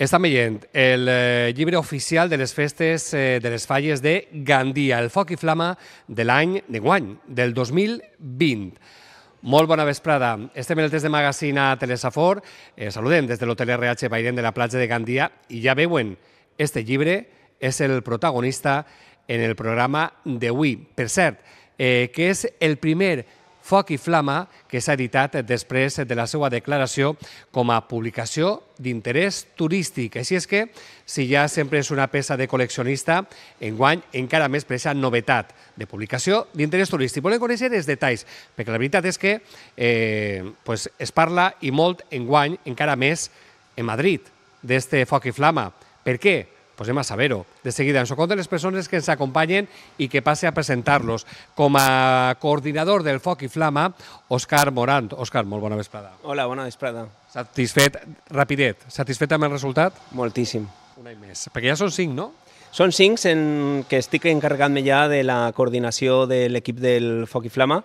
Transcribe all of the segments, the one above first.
Estan veient el llibre oficial de les festes de les falles de Gandia, el foc i flama de l'any d'enguany, del 2020. Molt bona vesprada. Estem en el test de magazine a Telesafor. Saludem des de l'Hotel RH Bairén de la platja de Gandia i ja veuen, este llibre és el protagonista en el programa d'avui. Per cert, que és el primer foc i flama que s'ha editat després de la seva declaració com a publicació d'interès turístic. Així és que, si ja sempre és una peça de col·leccionista, enguany encara més per aquesta novetat de publicació d'interès turístic. Volem conèixer els detalls, perquè la veritat és que es parla i molt enguany, encara més en Madrid, d'este foc i flama. Per què? Pues anem a saber-ho. De seguida ens ho conten les persones que ens acompanyen i que passe a presentar-los. Com a coordinador del Foc i Flama, Òscar Morant. Òscar, molt bona vesprada. Hola, bona vesprada. Satisfet, rapidet, satisfet amb el resultat? Moltíssim. Un any més. Perquè ja són 5, no? Són 5 en què estic encarregat-me ja de la coordinació de l'equip del Foc i Flama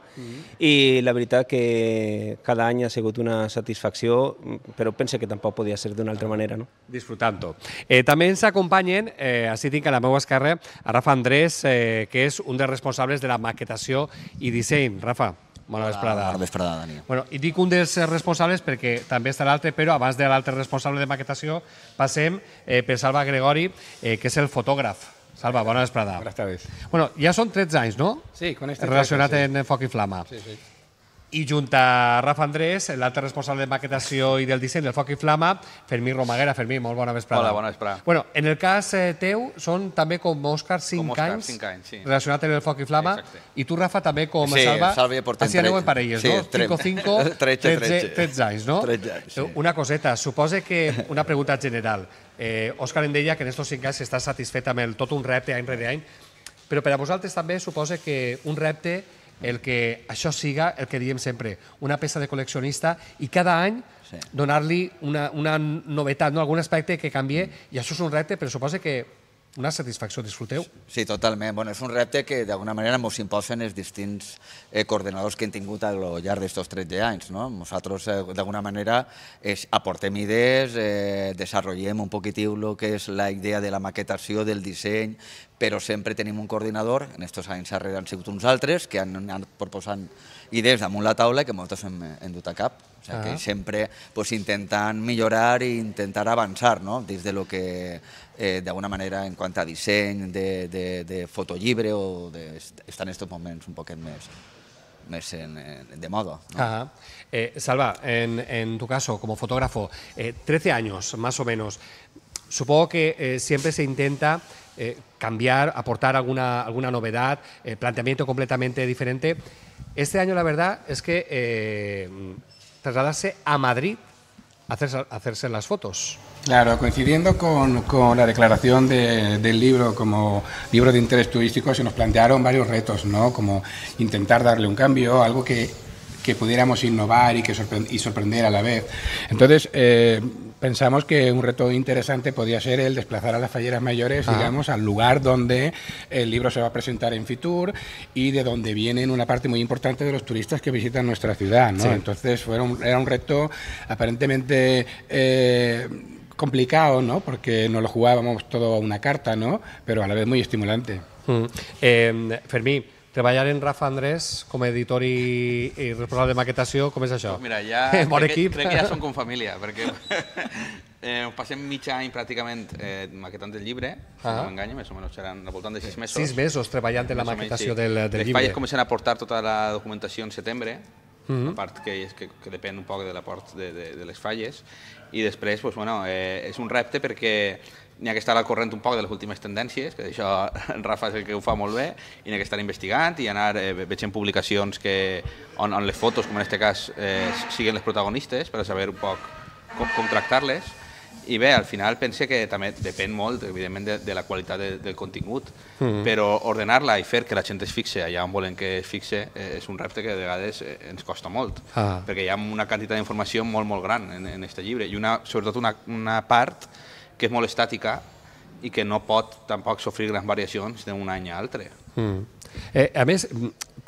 i la veritat que cada any ha sigut una satisfacció, però pense que tampoc podia ser d'una altra manera. Disfrutant-ho. També ens acompanyen, així tinc a la meva esquerra, a Rafa Andrés, que és un dels responsables de la maquetació i disseny. Rafa, bona vesprada. Bona vesprada, Dani. I dic un dels responsables perquè també està l'altre, però abans de l'altre responsable de maquetació passem per Salva Gregori, que és el fotògraf. Salva, bona vesprada. Buenas tardes. Ja són 13 anys, no? Sí, con este relacionat traje, sí. en Foc i Flama. Sí, sí. I junt a Rafa Andrés, l'altre responsable de maquetació i del disseny del Foc i Flama, Fermí Romaguera. Fermí, molt bona vesprada. Hola, bona vesprada. En el cas teu, són també com Òscar 5 anys relacionat amb el Foc i Flama. Exacte. I tu, Rafa, també com Sí, Salva. Salva ja portem Així aneu en parelles, sí, no? 5, 13 anys, no? 13 anys, sí. Una coseta, suposa que una pregunta general. Òscar em deia que en estos 5 anys està satisfet amb tot un repte any rere any, però per a vosaltres també suposa que un repte el que això siga el que diem sempre, una peça de col·leccionista i cada any donar-li una novetat, algun aspecte que canvie, i això és un repte, però suposa que una satisfacció, disfruteu. Sí, totalment. És un repte que d'alguna manera ens imposen els distints coordinadors que hem tingut al llarg d'aquests 13 anys. Nosaltres d'alguna manera aportem idees, desenvolupem un poquitiu el que és la idea de la maquetació, del disseny, però sempre tenim un coordinador, en aquests anys darrere han sigut uns altres, que han anat proposant idees damunt la taula que moltes hem dut a cap. Que sempre intentant millorar i intentar avançar dins del que d'alguna manera en quant a disseny de fotollibre o estar en aquests moments un poquet més de moda. Salva, en tu caso como fotógrafo, 13 años más o menos, supongo que siempre se intenta cambiar, aportar alguna novedad, planteamiento completamente diferente. Este año la verdad es que trasladarse a Madrid a hacerse las fotos. Claro, coincidiendo con la declaración del libro como libro de interés turístico, se nos plantearon varios retos, ¿no? Como intentar darle un cambio, algo que pudiéramos innovar y sorprender a la vez. Entonces, pensamos que un reto interesante podía ser el desplazar a las falleras mayores, digamos, al lugar donde el libro se va a presentar en Fitur y de donde vienen una parte muy importante de los turistas que visitan nuestra ciudad, ¿no? Sí. Entonces, era un reto aparentemente complicado, ¿no? Porque nos lo jugábamos todo a una carta, ¿no? Pero a la vez muy estimulante. Fermí, treballar en Rafa Andrés com a editor i responsable de maquetació, com és això? Mira, ja crec que ja som com família, perquè passem mig any pràcticament maquetant el llibre, si no m'enganya, més o menys seran al voltant de 6 mesos. 6 mesos treballant en la maquetació del llibre. Les falles comencen a aportar tota la documentació en setembre, la part que depèn un poc de l'aport de les falles, i després és un repte perquè n'hi ha que estar al corrent un poc de les últimes tendències, que això en Rafa és el que ho fa molt bé, i n'hi ha que estar investigant i anar veient publicacions on les fotos, com en aquest cas, siguin les protagonistes per a saber un poc com tractar-les. I bé, al final pense que també depèn molt, evidentment, de la qualitat del contingut, però ordenar-la i fer que la gent es fixe allà on volen que es fixe és un repte que de vegades ens costa molt, perquè hi ha una quantitat d'informació molt, molt gran en aquest llibre, i sobretot una part que és molt estàtica i que no pot tampoc sofrir grans variacions d'un any a l'altre. A més,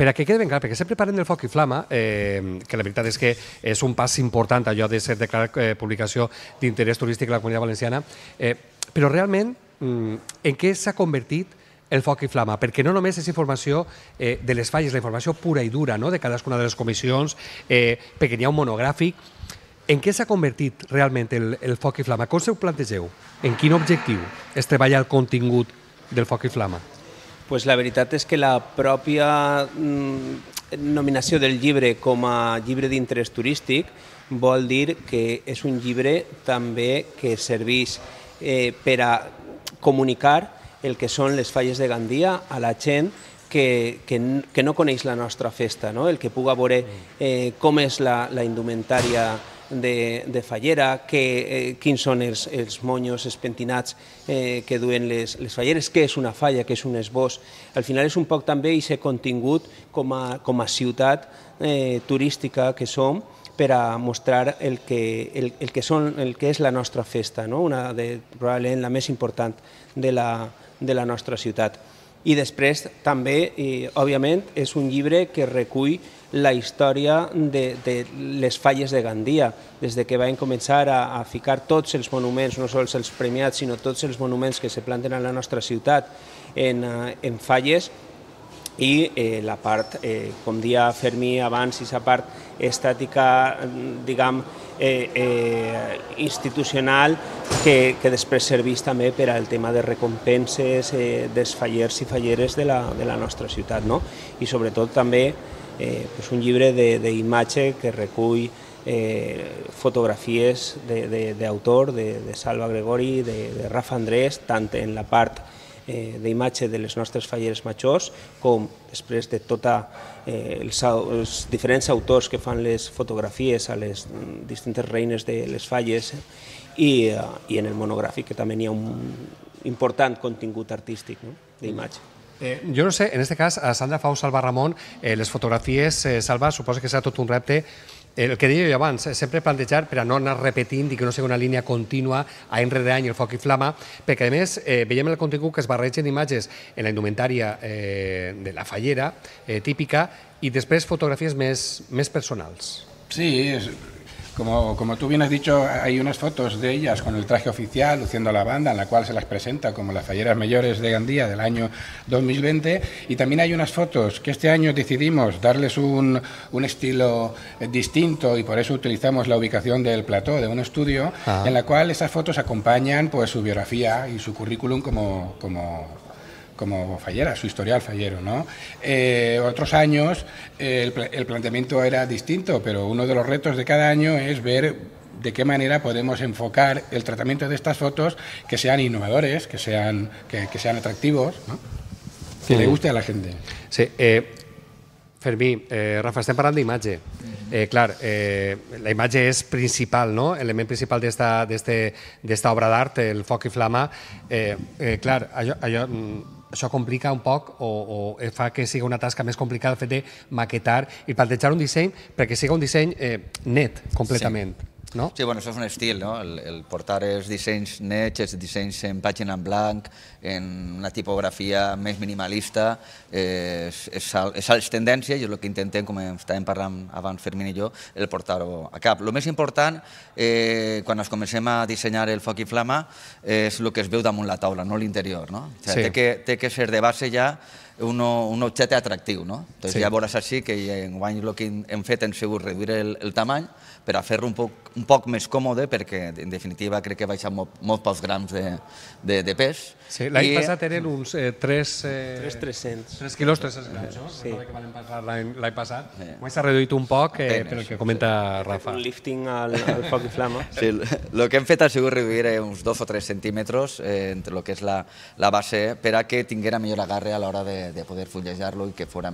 per a que quede ben clar, perquè sempre parlem del foc i flama, que la veritat és que és un pas important allò de ser declarat publicació d'interès turístic a la Comunitat Valenciana, però realment en què s'ha convertit el foc i flama? Perquè no només és informació de les falles, la informació pura i dura de cadascuna de les comissions, perquè n'hi ha un monogràfic. En què s'ha convertit realment el foc i flama? Com se ho plantegeu? En quin objectiu es treballa el contingut del foc i flama? Pues la veritat és que la pròpia nominació del llibre com a llibre d'interès turístic vol dir que és un llibre també que serveix per a comunicar el que són les falles de Gandia a la gent que no coneix la nostra festa, el que puga veure com és la indumentària de fallera, quins són els monyos, els pentinats que duen les falleres, què és una falla, què és un esbós. Al final és un poc també aquest contingut com a ciutat turística que som per a mostrar el que és la nostra festa, una probablement la més important de la nostra ciutat. I després també, òbviament, és un llibre que recull la història de les falles de Gandia, des que van començar a ficar tots els monuments, no sols els premiats, sinó tots els monuments que se planten a la nostra ciutat en falles, i la part, com dia Fermí abans, aquesta part estàtica, diguem, institucional, que després serveix també per al tema de recompenses dels fallers i falleres de la nostra ciutat. I sobretot també un llibre d'imatge que recull fotografies d'autor, de Salva Gregori, de Rafa Andrés, tant en la part d'imatge de les nostres falleres majors, com després de tots els diferents autors que fan les fotografies a les distintes reines de les falles, i en el monogràfic, que també hi ha un important contingut artístic d'imatge. Jo no sé, en aquest cas, a Sandra Fau, Salva Ramon, les fotografies, Salva, suposo que serà tot un repte. El que deia jo abans, sempre plantejar per a no anar repetint i que no sigui una línia contínua any rere any el foc i flama, perquè a més veiem en el contingut que es barregen imatges en la indumentària de la fallera típica i després fotografies més personals. Sí, como tú bien has dicho, hay unas fotos de ellas con el traje oficial, luciendo la banda, en la cual se las presenta como las falleras mayores de Gandía del año 2020, y también hay unas fotos que este año decidimos darles un estilo distinto, y por eso utilizamos la ubicación del plató de un estudio, en la cual esas fotos acompañan pues su biografía y su currículum como fallera, su historial fallero, otros años el planteamiento era distinto, pero uno de los retos de cada año es ver de qué manera podemos enfocar el tratamiento de estas fotos que sean innovadores, que sean atractivos, que le guste a la gente. Sí, Fermí, Rafa, estem parlant d'imatge. Clar, la imatge és principal, l'element principal d'esta obra d'art, el foc i flama. Clar, això complica un poc o fa que sigui una tasca més complicada el fet de maquetar i plantejar un disseny perquè sigui un disseny net, completament. Sí, bueno, això és un estil, el portar els dissenys nets, els dissenys en pàgina en blanc, en una tipografia més minimalista, és tendència i és el que intentem, com estàvem parlant abans Fermín i jo, el portar-ho a cap. El més important, quan ens comencem a dissenyar el foc i flama, és el que es veu damunt la taula, no l'interior. Té que ser de base ja un objecte atractiu. Ja veuràs així que enguany el que hem fet hem sigut reduir el tamany per a fer-lo un poc més còmode, perquè en definitiva crec que baixa molt pocs grams de pes. L'any passat eren uns 300. 3 quilos, 300 grams, no? Recordo que van passar l'any passat. S'ha reduït un poc, pel que comenta Rafa. Un lifting al foc i flama. El que hem fet ha sigut reduir uns 2 o 3 centímetres entre el que és la base per a que tinguera millor agarre a l'hora de poder fullejar-lo i que fos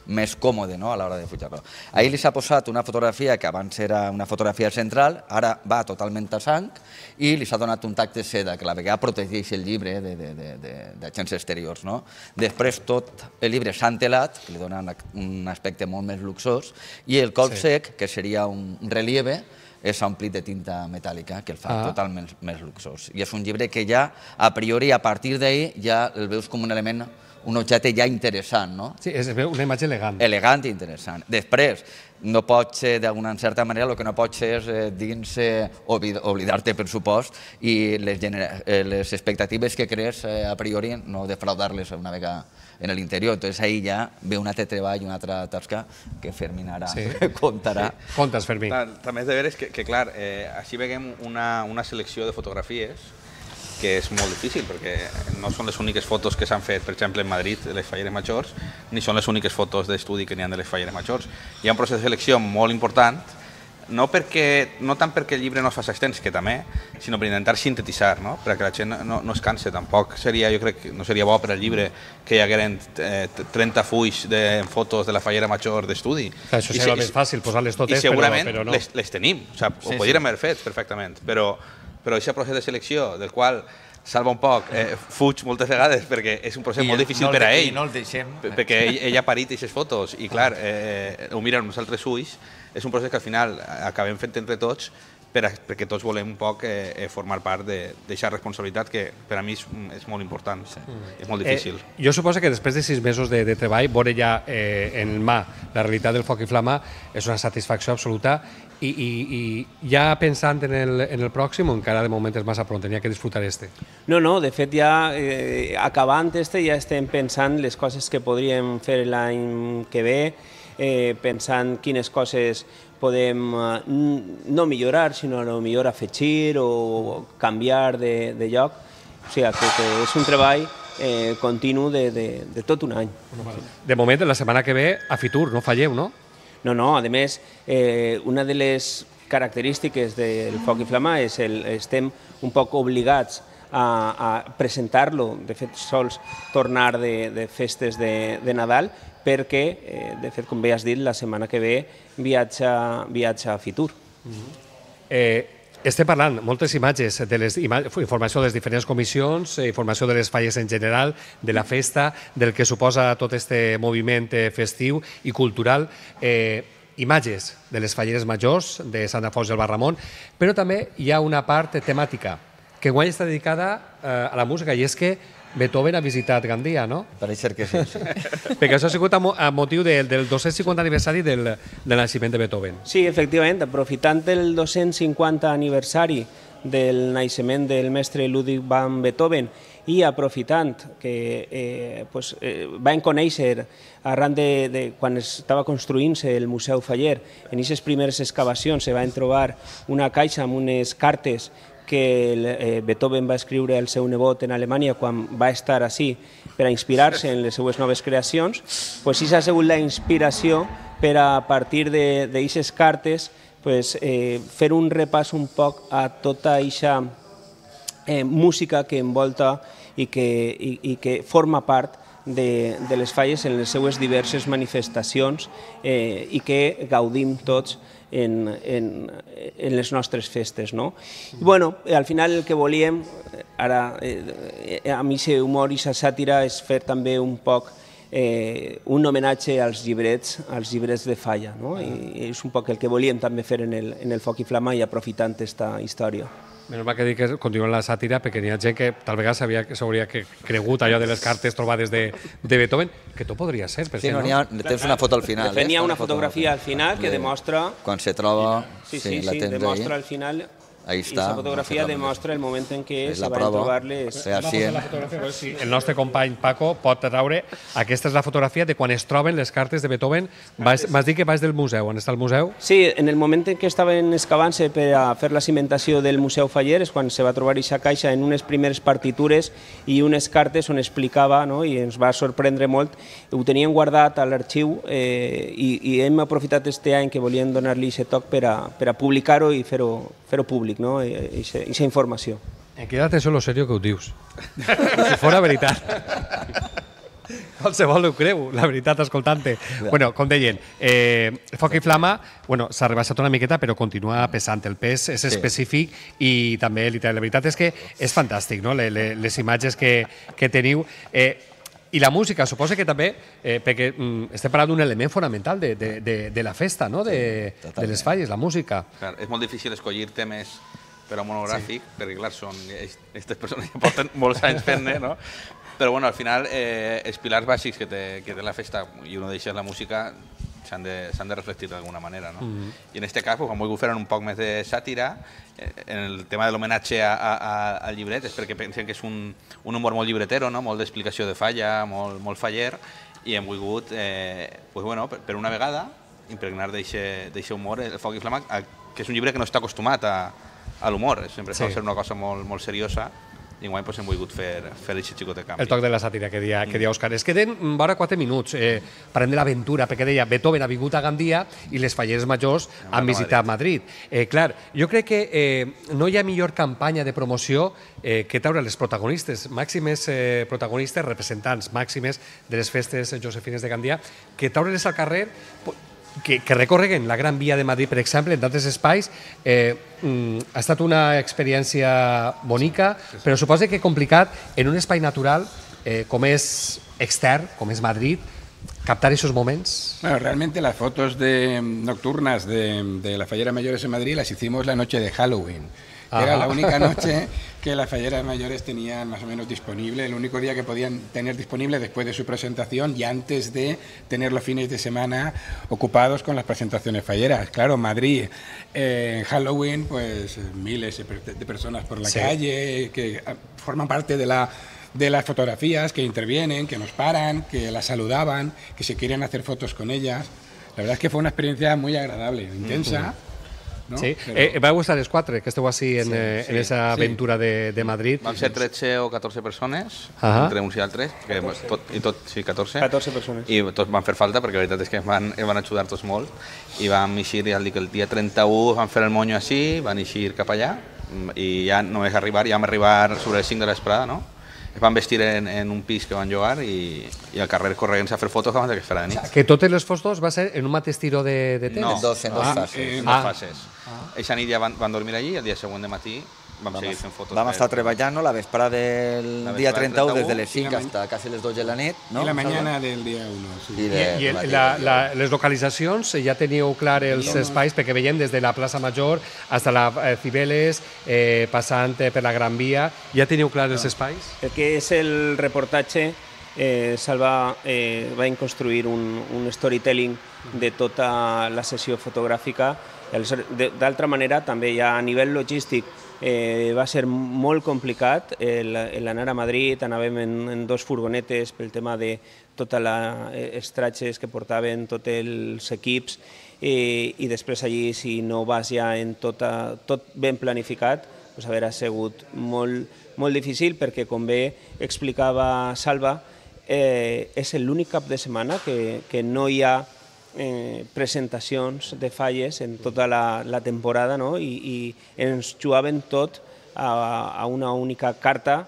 més còmode a l'hora de fullejar-lo. Ahir li s'ha posat una fotografia que abans era una fotografia central, ara va totalment a sang, i li s'ha donat un tac de seda que a la vegada protegeix el llibre d'agents exteriors. Després tot el llibre s'ha entelat, que li dona un aspecte molt més luxós, i el colp sec, que seria un relieve, és omplit de tinta metàl·lica, que el fa totalment més luxós. I és un llibre que ja, a priori, a partir d'ahir, ja el veus com un element, un objecte ja interessant, no? Sí, és una imatge elegant. Elegant i interessant. Després, no pot ser, d'alguna certa manera, el que no pot ser és dins oblidar-te, per supost, i les expectatives que crees a priori no defraudar-les una vegada en l'interior. Entonces ahí ja ve un altre treball i una altra tasca que Fermín ara contarà. Contes, Fermín. També és de veres que clar, així veiem una selecció de fotografies que és molt difícil, perquè no són les úniques fotos que s'han fet, per exemple, en Madrid, de les falleres majors, ni són les úniques fotos d'estudi que n'hi ha de les falleres majors. Hi ha un procés de selecció molt important, no tant perquè el llibre no es faci extens, que també, sinó per intentar sintetitzar, no? Perquè la gent no es canse. Tampoc seria, jo crec que no seria bo per al llibre que hi hagueren 30 fulls de fotos de la fallera major d'estudi. Això seria més fàcil, posar-les totes, però no. I segurament no. les tenim, ho podríem haver fet perfectament, però aquest procés de selecció, del qual salva un poc, fuig moltes vegades perquè és un procés molt difícil per a ell, i no el deixem, perquè ell ha parit aquestes fotos i clar, ho miren uns altres ulls, és un procés que al final acabem fent entre tots perquè tots volem un poc formar part d'aquesta responsabilitat que per a mi és molt important, és molt difícil. Jo suposo que després de 6 mesos de treball, veure ja en mà la realitat del Foc i Flama és una satisfacció absoluta i ja pensant en el pròxim o encara de moment és massa pront, tenia que disfrutar este? No, de fet ja acabant este ja estem pensant les coses que podríem fer l'any que ve, pensant quines coses podem no millorar, sinó millor afegir o canviar de lloc. O sigui, que és un treball continu de tot un any. De moment, la setmana que ve, a Fitur, no falleu, no? No, a més, una de les característiques del Foc i Flama és estem un poc obligats a presentar-lo, de fet sols tornar de festes de Nadal, perquè, de fet, com bé has dit, la setmana que ve viatja a Fitur. Estem parlant moltes imatges, informació de les diferents comissions, informació de les falles en general, de la festa, del que suposa tot este moviment festiu i cultural, imatges de les falleres majors, de Sant Alfons del Barramont, però també hi ha una part temàtica que enguany està dedicada a la música, i és que Beethoven ha visitat Gandia, no? Pareix ser que sí. Perquè això ha sigut a motiu del 250 aniversari del naixement de Beethoven. Sí, efectivament, aprofitant el 250 aniversari del naixement del mestre Ludwig van Beethoven i aprofitant que van conèixer arran de quan estava construint-se el Museu Faller, en aquestes primeres excavacions se van trobar una caixa amb unes cartes que Beethoven va escriure al seu nebot en Alemanya quan va estar així per a inspirar-se en les seues noves creacions, doncs això ha sigut la inspiració per a partir d'aquestes cartes fer un repàs un poc a tota aquesta música que envolta i que forma part de les falles en les seues diverses manifestacions i que gaudim tots en les nostres festes. Al final el que volíem, ara amb aquest humor i aquesta sàtira, és fer també un poc un homenatge als llibrets de falla. I és un poc el que volíem també fer en el Foc i Flama i aprofitant aquesta història. Menys mal que dic que continua la sàtira, perquè n'hi ha gent que tal vegada s'hauria cregut allò de les cartes trobades de Beethoven, que tot podria ser. Sí, tens una foto al final. De fet, n'hi ha una fotografia al final que demostra... Quan se troba... Sí, demostra al final... Ahí está. Esta fotografia demostra el moment en què se van trobar les... El nostre company Paco pot traure... Aquesta és la fotografia de quan es troben les cartes de Beethoven. M'has dit que vas del museu. On està el museu? Sí, en el moment en què estaven excavant-se per a fer la cimentació del Museu Faller és quan se va trobar aquesta caixa en unes primeres partitures i unes cartes on explicava, i ens va sorprendre molt. Ho tenien guardat a l'arxiu i hem aprofitat este any que volien donar-li aquest toc per a publicar-ho i fer-ho públic, aquesta informació. Em queda atenció lo serio que ho dius. Si fora veritat. Qualsevol ho creu, la veritat, escoltant-te. Com deien, Foc i Flama s'ha rebaixat una miqueta, però continua pesant. El pes és específic i també literal. La veritat és que és fantàstic, les imatges que teniu. I la música, suposa que també, perquè estem parlant d'un element fonamental de la festa, no? De les falles, la música. Clar, és molt difícil escollir temes per a un monogràfic, perquè clar, aquestes persones ja porten molts anys fent-ne, no? Però bueno, al final els pilars bàsics que té la festa, i un d'ells és la música, s'han de reflectir d'alguna manera, no? I en aquest cas han volgut fer un poc més de sàtira. En el tema de l'homenatge al llibret és perquè pensen que és un humor molt llibretero, no? Molt d'explicació de falla, molt faller, i hem volgut, per una vegada, impregnar d'aquest humor el Foc i Flama, que és un llibre que no està acostumat a l'humor, sempre sol ser una cosa molt seriosa, i enguany hem volgut fer aquest xicot de canvi. El toc de la sàtira que deia Òscar. Es queden vora 4 minuts. Parlem de l'aventura, perquè deia Beethoven ha vingut a Gandia i les falleres majors han visitat Madrid. Clar, jo crec que no hi ha millor campanya de promoció que treure les protagonistes, màximes protagonistes, representants màximes de les festes josefines de Gandia, que treure-les al carrer, que recorreguen la Gran Via de Madrid, per exemple, en d'altres espais. Ha estat una experiència bonica, però suposa que complicat en un espai natural com és extern, com és Madrid, captar esos moments. Bueno, realmente las fotos nocturnas de las falleras mayores en Madrid las hicimos la noche de Halloween. Era la única noche que las falleras mayores tenían más o menos disponible, el único día que podían tener disponible después de su presentación y antes de tener los fines de semana ocupados con las presentaciones falleras. Claro, Madrid, en Halloween, pues miles de personas por la calle que forman parte de las fotografías, que intervienen, que nos paran, que las saludaban, que se quieren hacer fotos con ellas. La verdad es que fue una experiencia muy agradable, intensa. No? Sí, vau estar els 4, que esteu així en aquesta aventura de Madrid. Vam ser 13 o 14 persones, entre uns i altres, sí, 14. 14 persones. I tots van fer falta, perquè la veritat és que van ajudar tots molt. I vam eixir, ja dic, el dia 31 vam fer el monyo així, van eixir cap allà, i ja només arribar, ja vam arribar sobre les 5 de l'esprada, no? Es van vestir en un pis que van llogar i al carrer corregant-se a fer fotos abans que es farà de nit. Que totes les fotos va ser en un mateix tiro de temps? No, en dos fases. En dos fases. Eixa nit ja van dormir allí, el dia següent de matí vam seguir fent fotos. Vam estar treballant la vesprada del dia 31 des de les 5 hasta quasi les 2 de la nit. I la mañana del dia 1. Sí. I les localitzacions, ja teníeu clar els espais, perquè veiem des de la plaça Major fins a la Cibeles, passant per la Gran Via, ja teniu clar els espais? El que és el reportatge, Salva va construir un storytelling de tota la sessió fotogràfica. D'altra manera, també ja a nivell logístic va ser molt complicat l'anar a Madrid, anàvem en 2 furgonetes pel tema de totes les tratges que portaven tots els equips i després allí, si no vas ja en tot ben planificat, haurà sigut molt difícil perquè, com bé explicava Salva, és l'únic cap de setmana que no hi ha presentacions de falles en tota la temporada, no? I ens jugaven tot a una única carta,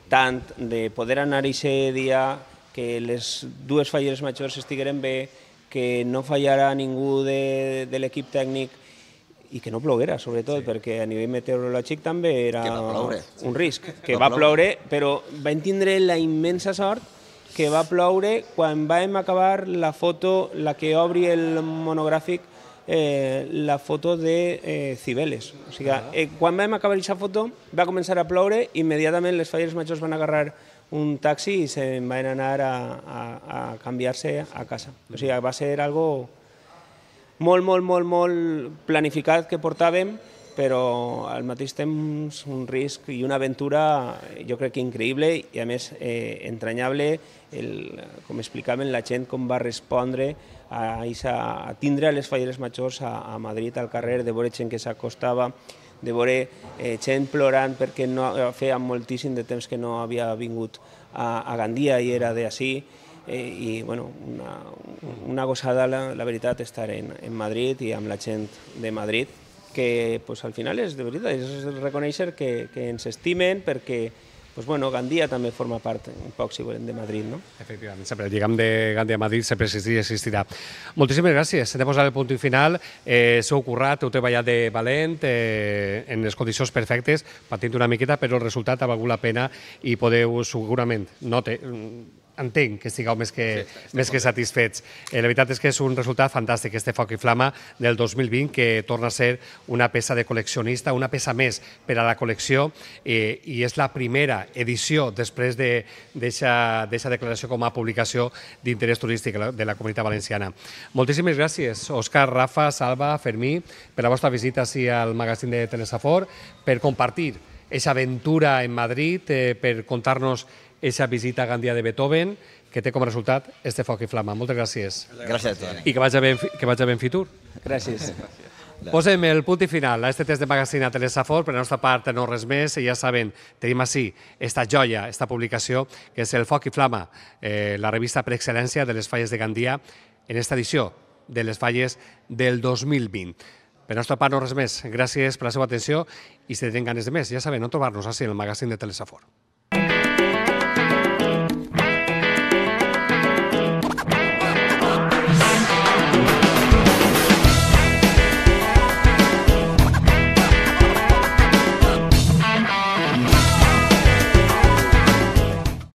tant de poder anar aquest dia, que les 2 falleres majors estigueren bé, que no fallara ningú de l'equip tècnic i que no ploguera, sobretot, perquè a nivell meteorològic també era un risc. Que va ploure, però vam tindre la immensa sort que va ploure quan vam acabar la foto, la que obri el monogràfic, la foto de Cibeles. O sigui, quan vam acabar aquesta foto va començar a ploure, immediatament les falleres majors van agarrar un taxi i se'n van anar a canviar-se a casa. O sigui, va ser algo molt planificat que portàvem, però al mateix temps un risc i una aventura jo crec que increïble i a més entranyable, com explicaven la gent com va respondre a tindre les falleres majors a Madrid al carrer, de veure gent que s'acostava, de veure gent plorant perquè feia moltíssim de temps que no havia vingut a Gandia i era d'ací. I una gosada, la veritat, estar en Madrid i amb la gent de Madrid, que al final és de veritat, és reconèixer que ens estimen perquè Gandia també forma part un poc, si volem, de Madrid, no? Efectivament, sempre el lligam de Gandia a Madrid sempre existirà. Moltíssimes gràcies. Hem de posar el punt final. S'heu currat, heu treballat de valent, en les condicions perfectes, patint una miqueta, però el resultat ha valgut la pena i podeu segurament, entenc que estigueu més que satisfets. La veritat és que és un resultat fantàstic, este Foc i Flama del 2020, que torna a ser una peça de col·leccionista, una peça més per a la col·lecció, i és la primera edició després d'aquesta declaració com a publicació d'interès turístic de la Comunitat Valenciana. Moltíssimes gràcies, Òscar, Rafa, Salva, Fermí, per la vostra visita ací al magazín de Telesafor, per compartir aquesta aventura en Madrid, per contar-nos aquesta visita a Gandia de Beethoven, que té com a resultat este Foc i Flama. Moltes gràcies. Gràcies a tu. I que vagi ben Fitur. Gràcies. Posem el punt i final a este test de magazín a Telesafor. Per la nostra part no res més, i ja saben, tenim així esta joia, esta publicació, que és el Foc i Flama, la revista per excel·lència de les falles de Gandia, en esta edició de les falles del 2020. Per la nostra part no res més. Gràcies per la seva atenció, i si tenen ganes de més, ja saben on trobar-nos així en el magazín de Telesafor.